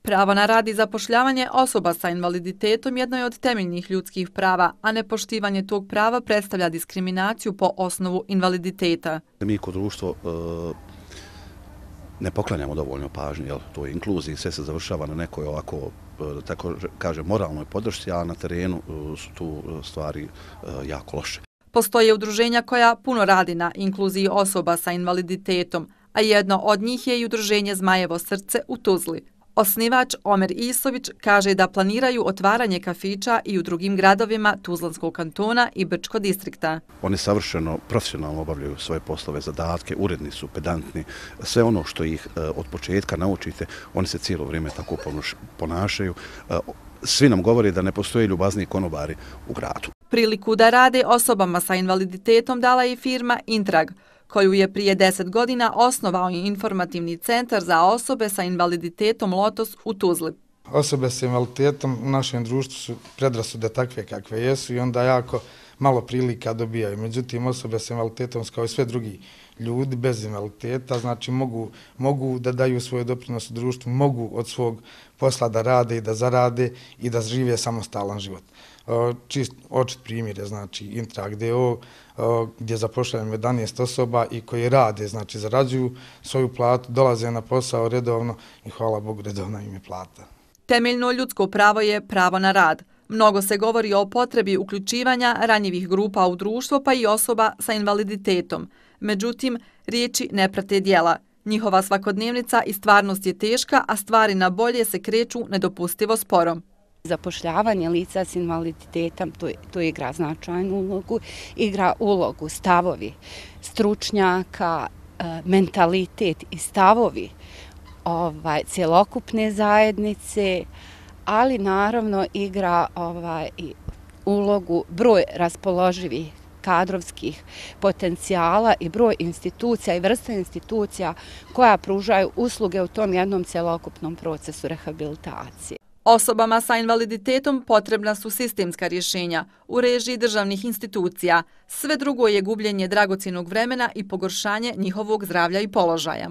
Pravo na rad i zapošljavanje osoba sa invaliditetom jedno je od temeljnih ljudskih prava, a nepoštivanje tog prava predstavlja diskriminaciju po osnovu invaliditeta. Mi kod društvo ne poklanjamo dovoljno pažnje, to je inkluziji, sve se završava na nekoj ovako, tako kaže, moralnoj podršci, a na terenu su tu stvari jako loše. Postoje udruženja koja puno radi na inkluziji osoba sa invaliditetom, a jedno od njih je i udruženje Zmajevo srce u Tuzli. Osnivač Omer Isović kaže da planiraju otvaranje kafića i u drugim gradovima Tuzlanskog kantona i Brčkog distrikta. Oni savršeno profesionalno obavljaju svoje poslove, zadatke, uredni su, pedantni. Sve ono što ih od početka naučite, oni se cijelo vrijeme tako ponašaju. Svi nam govore da ne postoje ljubazniji konobari u gradu. Priliku da rade osobama sa invaliditetom dala je firma Intrag, koju je prije 10 godina osnovao i informativni centar za osobe sa invaliditetom Lotos u Tuzli. Osobe sa invaliditetom u našem društvu su predrasude takve kakve jesu i onda jako malo prilika dobijaju. Međutim, osobe sa invaliditetom kao i sve drugi ljudi bez invaliditeta, znači mogu da daju svoj doprinos u društvu, mogu od svog posla da rade i da zarade i da žive samostalan život. Čist očit primjer je znači Intrag DO gdje zapošljavamo 11 osoba i koji rade, znači zarađuju svoju platu, dolaze na posao redovno i hvala Bogu redovna im je plata. Temeljno ljudsko pravo je pravo na rad. Mnogo se govori o potrebi uključivanja ranjivih grupa u društvo pa i osoba sa invaliditetom. Međutim, riječi ne prate djela. Njihova svakodnevnica i stvarnost je teška, a stvari na bolje se kreću nedopustivo sporo. Zapošljavanje lica s invaliditetom to igra značajnu ulogu, igra ulogu stavovi stručnjaka, mentalitet i stavovi cjelokupne zajednice, ali naravno igra i ulogu broj raspoloživih kadrovskih potencijala i broj institucija i vrsta institucija koja pružaju usluge u tom jednom cjelokupnom procesu rehabilitacije. Osobama sa invaliditetom potrebna su sistemska rješenja u režiji državnih institucija. Sve drugo je gubljenje dragocjenog vremena i pogoršanje njihovog zdravlja i položaja.